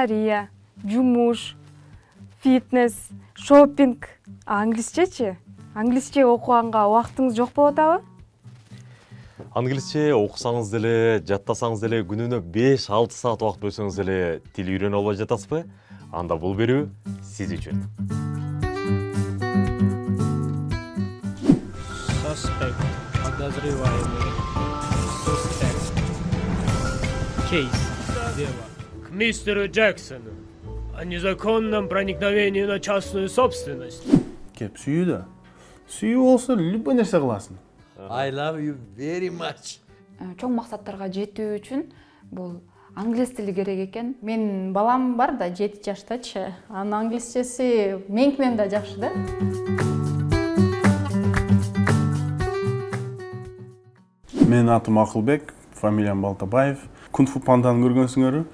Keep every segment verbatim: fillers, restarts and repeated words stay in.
кулинария, жумуш, фитнес, шопинг. Англисчечи? Англисче окуганга убактыңыз жок болуп атабы? Англисче окусаңыз деле, жаттасаңыз деле, күнүнө беш алты саат убакыт бөлсөңүз деле тил үйрөнө албай жатасызбы? Анда бул берүү сиз үчүн. Suspect, подозреваемый, suspect, case, дело. К мистеру Джексону о незаконном проникновении на частную собственность. Кеп сүйүү да. Сүйүү болсо любой нерсе кыласың. I love you very much. Чоң максаттарга жетүү үчүн бул англис тили керек экен. Менин балам бар да жети жаштачы. Анын англисчеси меникинен да жакшы да. Менин атым Акылбек, фамилиям Балтабаев. Кунг-фу панданы көргөнсүңөрбү?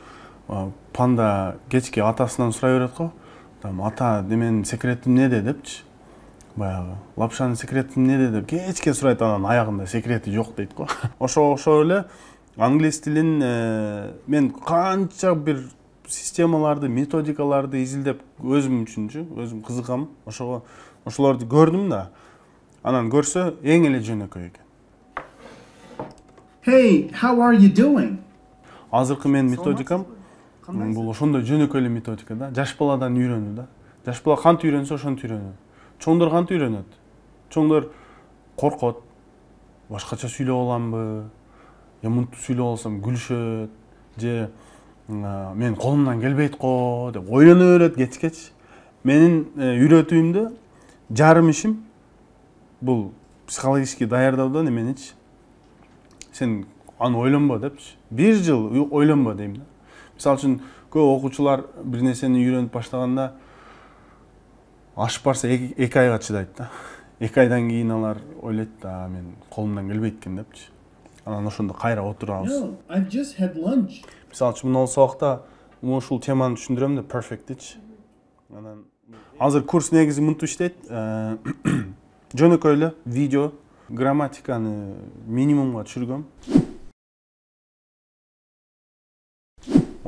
Панда кечки атасынан сурай берет го. Там ата деменин секретим неде депчи. Баягы лапшанын секрети эмнеде деп кечке сурайт, анан аягында секрети жок дейт го. Ошого окшоп эле англис тилин мен канча бир системаларды, методикаларды изилдеп өзүм үчүнчү, өзүм кызыгам. Ошого ошолорду көрдүм да. Анан көрсө эң эле жөнөкөй экен. Hey, how are you doing? Азыркы менин методикам бул ошондой жөнөкөй эле методика да. Жаш баладан үйрөнүү да. Жаш бала кантип үйрөнсө ошентип үйрөнөт. Чоңдор кантип үйрөнөт? Чоңдор коркот. Башкача сүйлөп аламбы? Я мынтип сүйлөп алсам күлүшөт. Же мен колумдан келбейт го деп ойлоно берет кечкечи. Менин үйрөтүүмдө жарым ишим бул психологический даярдоодон эменичи. Сен аны ойлонбо депчи. Бир жыл ойлонбо дейм да. Мисалы үчүн көп окуучулар бир нерсени үйрөнүп баштаганда ашып барса эки айга чыдайт да. Эки айдан кийин алар ойлойт да, мен колумдан келбейт экен депчи. Анан ошондо кайра отурабыз. No, I've just had lunch. Мисалы үчүн мына сабакта ушул теманы түшүндүрөм да, perfect-ичи. Анан азыр курс негизи мынтип иштейт. Жөнөкөй эле видео, грамматиканы минимумга түшүргөм.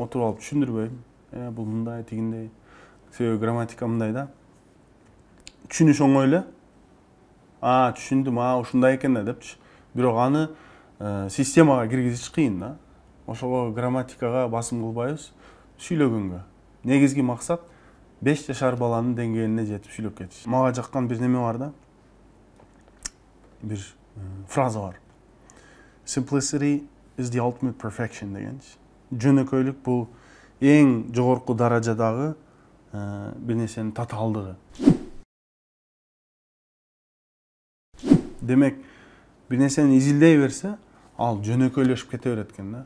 Отуруп алып түшүндүрбөйм. Э, бул мындай, тигиндей. Себеби грамматика мындай да. Түшүнүш оңой эле. А, түшүндүм, а, ушундай экен да депчи. Бирок аны системага киргизиш кыйын да. Ошого грамматикага басым кылбайбыз, сүйлөгөнгө. Негизги максат беш жашар баланын деңгээлине жетип сүйлөп кетиш. Мага жаккан бир неме бар да. Бир фраза бар. Simplicity is the ultimate perfection дегенчи. Жөнөкөйлүк бул эң жогорку даражадагы бир нерсенин татаалдыгы. Демек, бир нерсени изилдей берсе, ал жөнөкөйлөшүп кете берет экен да.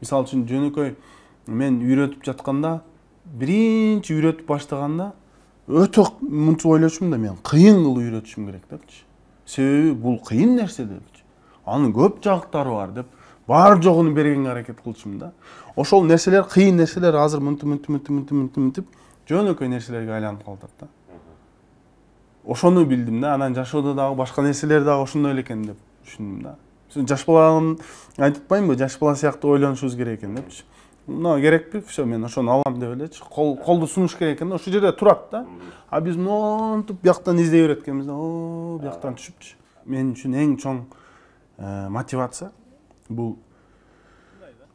Мисалы үчүн жөнөкөй мен үйрөтүп жатканда, биринчи үйрөтүп баштаганда өтө мынтип ойлочумун да, мен кыйын кылып үйрөтүшүм керек депчи. Себеби бул кыйын нерсе депчи. Анын көп жагыттары бар деп, бар жогуну бергенге аракет кылчумун да. Ошол нерселер, кыйын нерселер азыр мынтип мынтип мынтип мынтип мынтип жөнөкөй нерселерге айланып калат да. Ошону билдим да, анан жашоодо дагы башка нерселер дагы ошондой эле экен деп түшүндүм да. Жаш баланы айтып атпаймынбы, жаш бала сыяктуу ойлонушубуз керек экен депчи. Мына керекпи? Всё, мен ошону алам деп элечи. Кол колду сунуш керек экен да, ошол жерде турат да. А биз монтип бияктан издей берет экенбиз да. О, бияктан түшүпчү. Мен үчүн эң чоң мотивация бул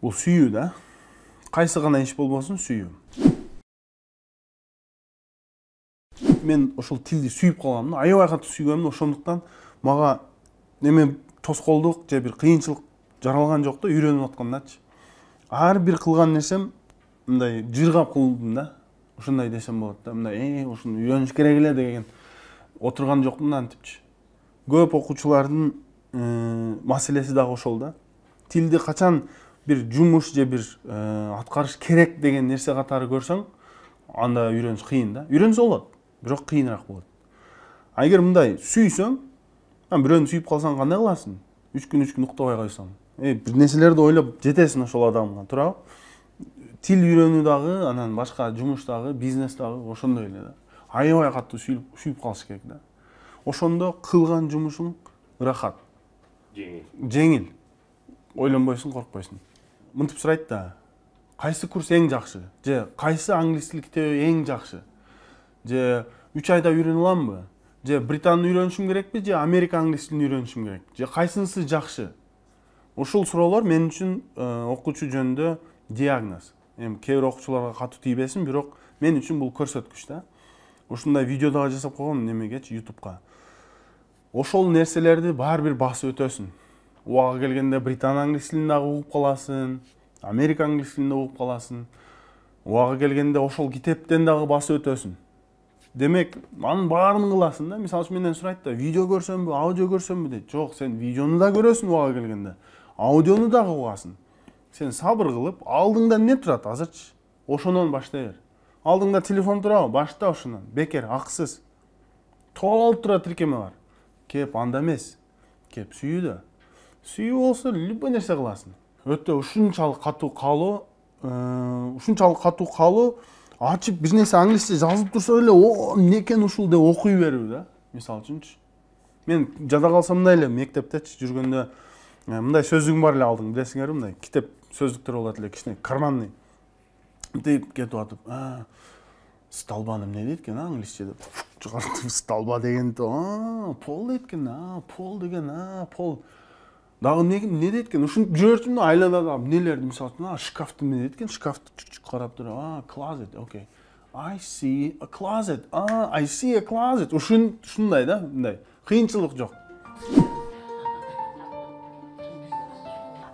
бул сүйүү да. Кайсы гана иш болбосун сүйүү. Мен ошол тилди сүйүп калгам да, аябай катуу сүйгөм да, ошондуктан мага неме тоскоолдук же бир кыйынчылык жаралган жок да, үйрөнүп аткандачы. Ар бир кылган нерсем мындай жыргап кылдым да. Ошондой десем болот да. Мындай, э, ушуну үйрөнүш керек эле деген отурган жокмун да антипчи. Көп окуучулардын маселеси дагы ошол да. Тилди качан бир жумуш же бир аткарыш керек деген нерсе катары көрсөң, анда үйрөнүш кыйын да. Үйрөнсө болот, бирок кыйыныраак болот. А эгер мындай сүйсөң, бирөөнү сүйүп калсаң кандай кыласың? үч күн үч күн уктабай койсоң. Э, бир нерселерди ойлоп жетесиң ошол адамга, туурабы? Тил үйрөнүү дагы, анан башка жумуш дагы, бизнес дагы ошондой эле да. Аябай катуу сүйүп сүйүп калыш керек да. Ошондо кылган жумушуң ырахат. Жеңил. Жеңил. Ойлонбойсуң, коркпойсуң. Мынтип сурайт да. кайсы курс эң жакшы, же кайсы англис тил китеби эң жакшы, же үч айда үйрөнө аламбы, же британды үйрөнүшүм керекпи, же Америка англис тилин үйрөнүшүм керек, же кайсынысы жакшы? Ушул суроолор мен үчүн окуучу жөнүндө диагноз. Эми кээ бир окуучуларга катуу тийбесин, бирок мен үчүн бул көрсөткүч да. Ушундай видео дагы жасап койгом немегечи ютубка. Ошол нерселерди баары бир басып өтөсүн. Убага келгенде британ англис тилин дагы угуп каласың, Америка англис тилин дагы угуп каласың. Убага келгенде ошол китептен дагы басып өтөсүн. Демек, анын баарын кыласың да. Мисалы үчүн менден сурайт да, видео көрсөмбү, аудио көрсөмбү дейт. Жок, сен видеону да көрөсүң убага келгенде. Аудиону дагы угасың. Сен сабыр кылып, алдыңда эмне турат азырчы? Ошонон баштай бер. Алдыңда телефон турабы? Башта ошонон. Бекер, акысыз. Толтура тиркеме бар. Кеп анда эмес. Кеп сүйүүдө. Сүйүү болсо любой нерсе кыласың. Өтө ушунчалык катуу калуу, ушунчалык катуу калуу, ачып бир нерсе англисче жазылып турса эле, о, эмне экен ушул деп окуй берүү да. Мисалы үчүнчү. Мен жада калсам мындай эле мектептечи жүргөндө мындай сөздүгүм бар эле алдың, билесиңерби, мындай китеп сөздүктөр болот эле, кичине карманный. Мынтип кетип атып, столба эмне дейт экен англисче деп чыгартып, столба дегенди, а, пол дейт экен, а, пол деген, а, пол. Дагы эмне дейт экен? Ушинтип жүрөчүм да, айланада эмнелерди, мисалы үчүн, а, шкафты эмне дейт экен? Шкафты чук-чук карап туруп, а, closet, окей. I see a closet. А, I see a closet. Ушун ушундай да, мындай. Кыйынчылык жок.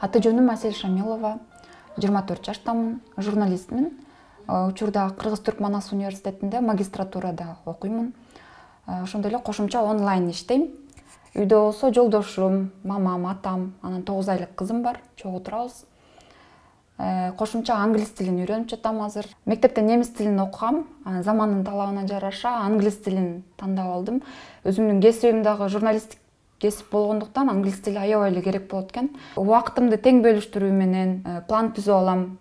Аты жөнүм Асель Шамилова, жыйырма төрт жаштамын, журналистмин. Учурда Кыргыз-Түрк Манас университетинде магистратурада окуймун. Ошондой эле кошумча онлайн иштейм. Үйдө болсо жолдошум, мамам, атам, анан тогуз айлык кызым бар, чогуу турабыз. Кошумча англис тилин үйрөнүп жатам азыр. Мектепте немис тилин окугам, замандын талабына жараша англис тилин тандап алдым. Өзүмдүн кесибим дагы журналисттик кесип болгондуктан англис тили аябай эле керек болот экен. Убактымды тең бөлүштүрүү менен план түзүп алам.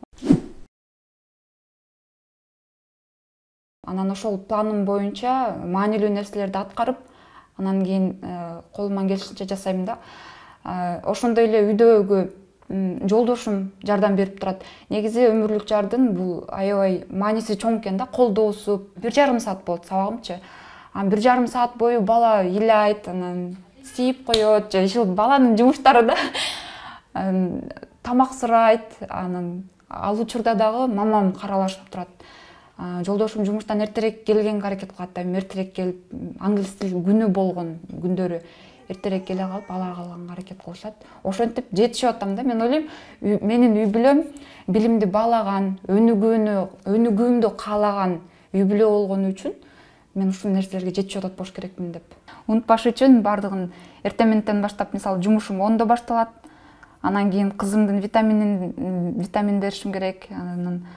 Анан ошол планым боюнча маанилүү нерселерди аткарып, анан кийин колуман келишинче жасайм да. Ошондой эле үйдөгү жолдошум жардам берип турат. Негизи өмүрлүк жардын бул аябай мааниси чоң экен да, колдоосу. бир жарым саат болот сабагымчы. Анан бир жарым саат бою бала ыйлайт, анан сийип коет, же ушул баланын жумуштары да. Тамак сурайт, анан ал учурда дагы мамам каралашып турат. Жолдошум жумуштан эртерээк келгенге аракет кылат да, эртерээк келип, англис тил күнү болгон күндөрү эртерээк келе калып, ала калганга аракет кылышат. Ошентип жетишип атам да. Мен ойлойм, менин үй бүлөм билимди баалаган, өнүгүүнү, өнүгүүмдү каалаган үй бүлө болгону үчүн мен ушул нерселерге жетишип атат болуш керекмин деп. Унутпаш үчүн бардыгын эртең менен баштап, мисалы, жумушум ондо башталат. Анан кийин кызымдын витаминин витамин беришим керек. Анан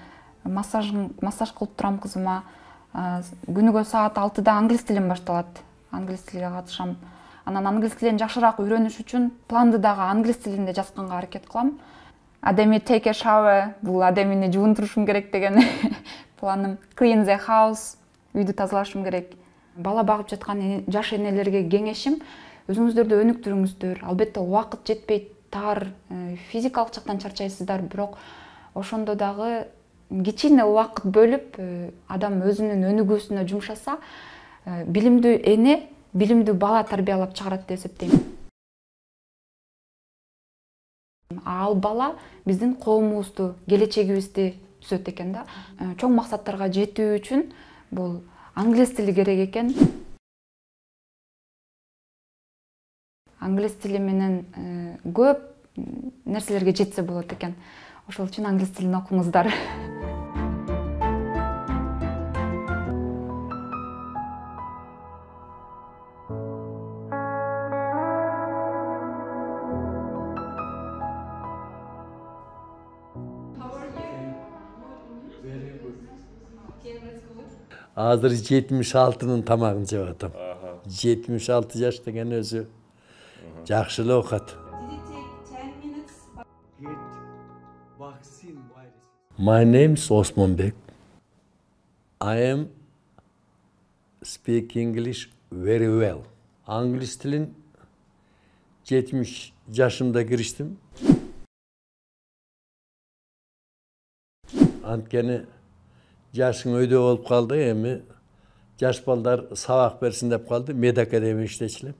массаж массаж кылып турам кызыма. Күнүгө саат алтыда англис тилим башталат. Англис тилине катышам. Анан англис тилин жакшыраак үйрөнүш үчүн планды дагы англис тилинде жазганга аракет кылам. Адеми take a shower, бул адемини жуунтурушум керек деген планым. Clean the house, үйдү тазалашым керек. Бала багып жаткан жаш энелерге кеңешим, өзүңүздөрдү өнүктүрүңүздөр. Албетте убакыт жетпейт, тар, физикалык жактан чарчайсыздар, бирок ошондо дагы кичине убакыт бөлүп, адам өзүнүн өнүгүүсүнө жумшаса, билимдүү эне, билимдүү бала тарбиялап чыгарат деп эсептейм. Ал бала биздин коомубузду, келечегибизди түзөт экен да. Чоң максаттарга жетүү үчүн бул англис тили керек экен. Англис тили менен көп нерселерге жетсе болот экен. Ошол үчүн англис тилин окуңуздар. Азыр жетимиш алтынын тамагын жеп атам. жетимиш алты жаш деген өзү жакшы эле окат. My name is Osmanbek. I am speak English very well. Англис тилин жетимиш жашымда кириштим. Анткени жашың өйдө болуп калды, эми жаш балдар сабак берсин деп калды, медакадемия иштечилем.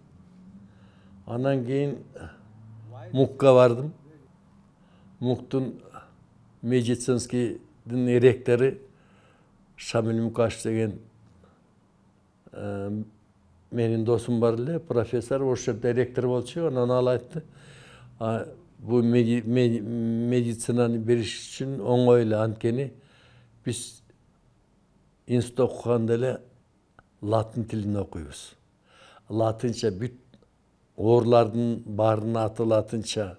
Анан кийин МУКка бардым. МУКтун медицинскийдин ректору Шамиль Мукашев деген менин досум бар эле, профессор, ошол жерде ректор болчу. Анан ал айтты, бул медицинаны бериш үчүн оңой эле, анткени биз институт окуганда эле латын тилин окуйбуз. Латынча бүт оорулардын баарынын аты латынча,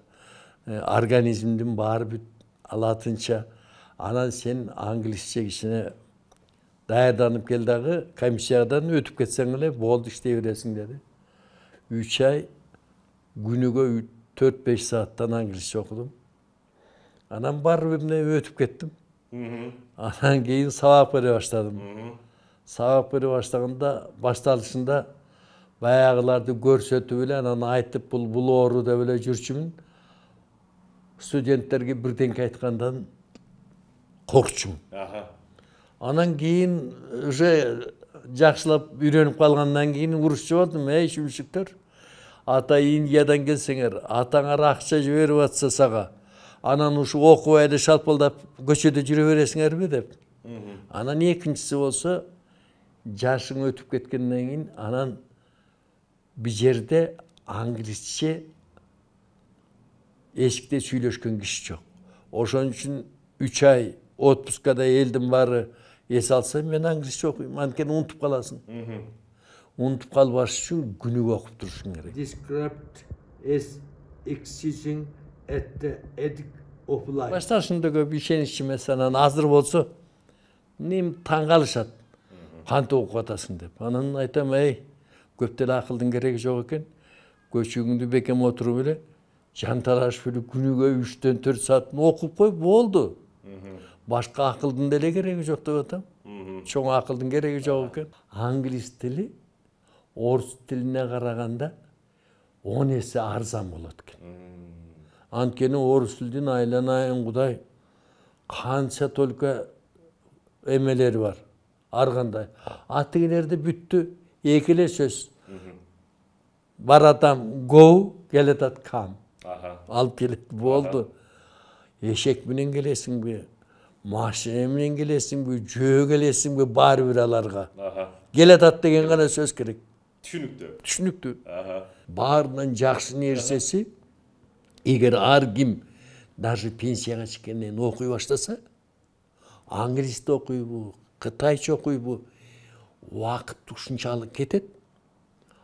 организмдин баары бүт латынча. Анан сен англисче кичине даярданып кел дагы, комиссиядан өтүп кетсең эле болду, иштей бересиң деди. үч ай күнүгө төрт беш сааттан англисче окудум. Анан барып эмне өтүп кеттим. Анан кийин сабак бере баштадым. Сабак бере баштаганда башталышында баягыларды көрсөтүп эле, анан айтып бул бул оору деп эле жүрчүмүн. Студенттерге бирденке айткандан коркчумун. Анан кийин уже жакшылап үйрөнүп калгандан кийин урушчу болдум. Эй шүмшүктөр, ата Индиядан келсеңер, атаңар акча жиберип атса сага, анан ушу окубай эле шалпылдап көчөдө жүрө бересиңерби деп. Анан экинчиси болсо, жашың өтүп кеткенден кийин анан бир жерде англисче эшикте сүйлөшкөн киши жок. Ошон үчүн үч ай отпускада элдин баары эс алса, мен англисче окуйм, анткени унутуп каласың. Унутуп калбаш үчүн күнүгө окуп турушуң керек. Described as exercising at the edge of life. Башташында көп ишениччи эмес, анан азыр болсо нем таң калышат. Кантип окуп атасың деп. Анан айтам, эй, көп деле акылдын кереги жок экен. Көчөгүңдү бекем отуруп эле, жанталашып эле күнүгө үчтөн төрт саат окуп кой, болду. Башка акылдын деле кереги жок деп атам. Чоң акылдын кереги жок экен. Англис тили орус тилине караганда он эсе арзан болот экен. Анткени орус тилдин айланайын Кудай канча только эмелери бар. Ар кандай. Атыгилерде бүттү эки эле сөз. Баратам go, келетат come. Алып келет, болду. Эшек менен келесиңби? Машина менен келесиңби? Жөө келесиңби? Баары бир аларга. Келетат деген гана сөз керек. Түшүнүктүү. Түшүнүктүү. Баарынан жакшы нерсеси, эгер ар ким даже пенсияга чыккенден окуй баштаса, англисти окуйбу, кытайча окуйбу, убакыт ушунчалык кетет.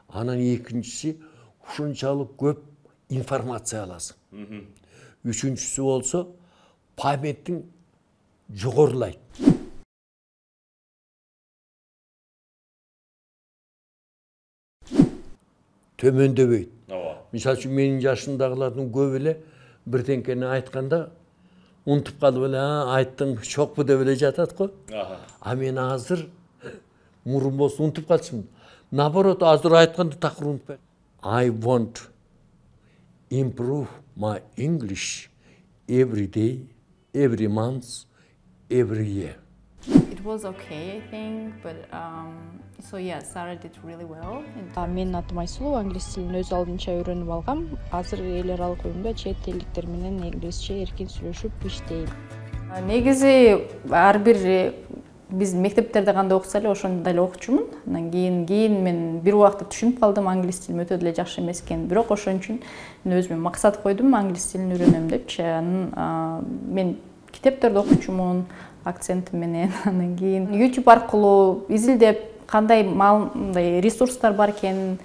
Анан экинчиси ушунчалык көп информация аласың. Үчүнчүсү болсо памятиң жогорулайт. Төмөндөбөйт. Мисалы үчүн менин жашымдагылардын көп эле бирденкени айтканда унутуп калып эле, айттың чокпу деп эле жатат го. А мен азыр мурун болсо унутуп калчумун. Наоборот, азыр айтканды такыр унутпайм. I want improve my English every day, every month, every year. It was okay, I think, but um, so yeah, Sarah did really well. Менин атым Айсулуу, англис тилин өз алдынча үйрөнүп алгам. Азыр эл аралык уюмда чет элдиктер менен англисче эркин сүйлөшүп иштейм. Негизи ар бир биз мектептерде кандай окуса эле ошондой эле окучумун. Андан кийин кийин мен бир убакта түшүнүп калдым англис тилим өтө деле жакшы эмес экенин. Бирок ошон үчүн мен өзүмө максат койдум, англис тилин үйрөнөм депчи. Анан мен китептерди окучумун акцентим менен. Андан кийин YouTube аркылуу изилдеп кандай мындай ресурстар бар экенин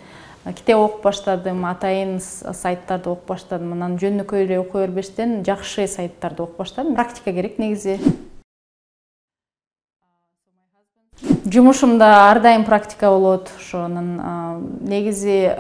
китеп окуп баштадым, атайын сайттарды окуп баштадым. Анан жөнөкөй эле окуя бербестен жакшы сайттарды окуп баштадым. Практика керек негизи. Жумушумда ар дайым практика болот. Ошонун негизи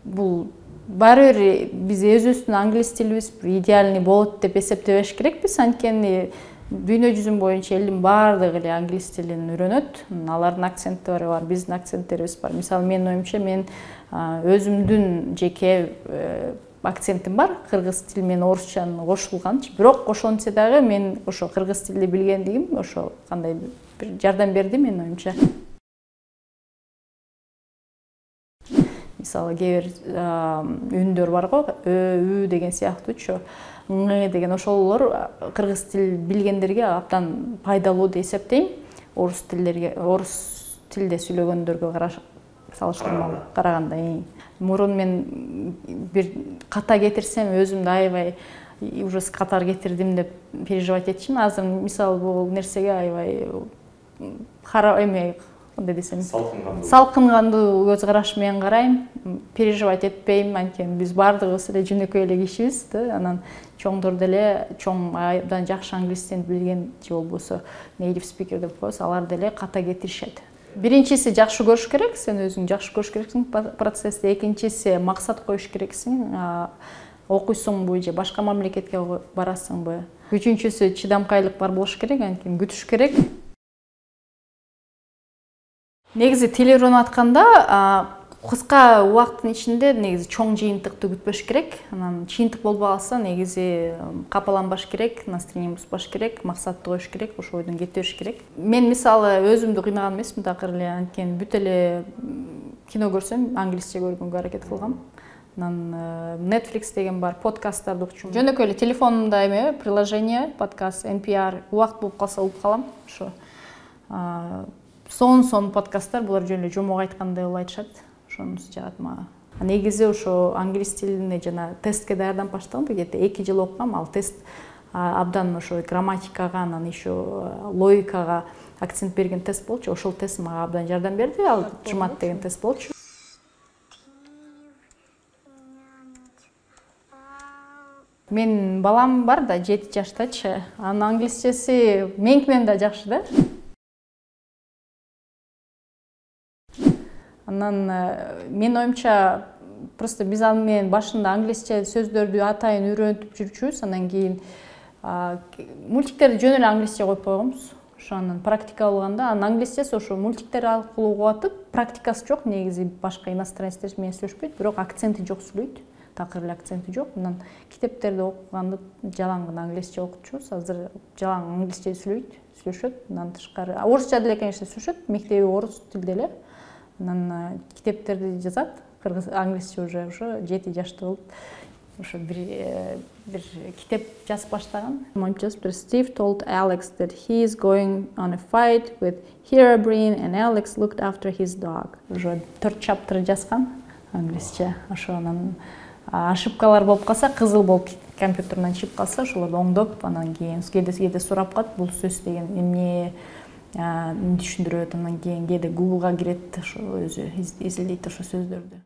бул баары бир биз өзүбүздүн англис тилибиз идеальный болот деп эсептебеш керекпиз. Анткени дүйнө жүзүн боюнча элдин баардыгы эле англис тилин үйрөнөт. Алардын акценттери бар, биздин акценттерибиз бар. Мисалы менин оюмча мен өзүмдүн жеке акцентим бар, кыргыз тили менен орусчанын кошулганчы. Бирок ошончо дагы мен ошо кыргыз тилди билгендигим ошо кандай бир жардам берди менин оюмча. Мисалы кээ бир үндөр бар го, ө, ү деген сыяктуучу, ң деген ошолор кыргыз тил билгендерге абдан пайдалуу деп эсептейм. Орус тилдерге, орус тилде сүйлөгөндөргө салыштырмалуу караганда. Мурун мен бир ката кетирсем өзүмдү аябай уже катар кетирдим деп переживать этчимин. Азыр мисалы бул нерсеге аябай кара эме кандай десем, салкынгандуу көз караш менен карайм, переживать этпейм. Анткени биз баардыгыбыз эле жөнөкөй эле кишибиз да. Анан чоңдор деле чоң абдан жакшы англис тилин билген же болбосо native speaker деп коебуз, алар деле ката кетиришет. Биринчиси жакшы көрүш керек, сен өзүң жакшы көрүш керексиң процессти. Экинчиси максат коюш керексиң, окуйсуңбу же башка мамлекетке барасыңбы. Үчүнчүсү чыдамкайлык бар болуш керек, анткени күтүш керек. Негизи тил үйрөнүп атканда кыска убакыттын ичинде негизи чоң жыйынтыкты күтпөш керек. Анан чыйынтык болбой калса негизи капаланбаш керек, настроение бузбаш керек, максатты коюш керек, ошол бойдон кете бериш керек. Мен мисалы өзүмдү кыйнаган эмесмин такыр эле, анткени бүт эле кино көрсөм англисче көргөнгө аракет кылгам. Анан Netflix деген бар, подкасттарды угчум. Жөнөкөй эле телефонумда эме приложение, подкаст, эн пи ар убакыт болуп калса угуп калам. Ошо сон-сон подкасттар, булар жөн эле жомок айткандай болуп айтышат. Ошонусу жагат мага. Негизи ошо англис тилине жана тестке даярданып баштагам, где-то эки жыл окугам. Ал тест абдан ошо грамматикага, анан еще логикага акцент берген тест болчу. Ошол тест мага абдан жардам берди. Ал жумат деген тест болчу. Менин балам бар да, жети жаштачы. Анын англисчеси меники менен да жакшы да. Анан мен оюмча просто биз аны менен башында англисче сөздөрдү атайын үйрөнүп жүрчүбүз, анан кийин мультиктерди жөн эле англисче коюп койгонбуз. Ошонун практика алганда, анын англисчеси ошо мультиктер аркылуу угуп атып, практикасы жок, негизи башка иностранецтер менен сүйлөшпөйт, бирок акценти жок сүйлөйт. Такыр эле акценти жок. Анан китептерди окуганда жалаң гана англисче окутчубуз. Азыр жалаң англисче сүйлөйт, сүйлөшөт. Андан тышкары орусча деле конечно сүйлөшөт, мектеби орус тилде эле. Анан китептерди жазат, кыргыз англисче уже ошо жети жашта болуп, ошо бир бир китеп жазып баштаган. Steve told Alex that he is going on a fight with Herobrine and Alex looked after his dog. Ошо төрт чаптыр жазган англисче. Ошо анан ошибкалар болуп калса, кызыл болуп компьютерден чыгып калса, ошолорду оңдоп, анан кийин кээде сурап калат, бул сөз деген эмне түшүндүрөт, анан кийин кээде Google'га кирет, ошо өзү изилдейт ошо сөздөрдү.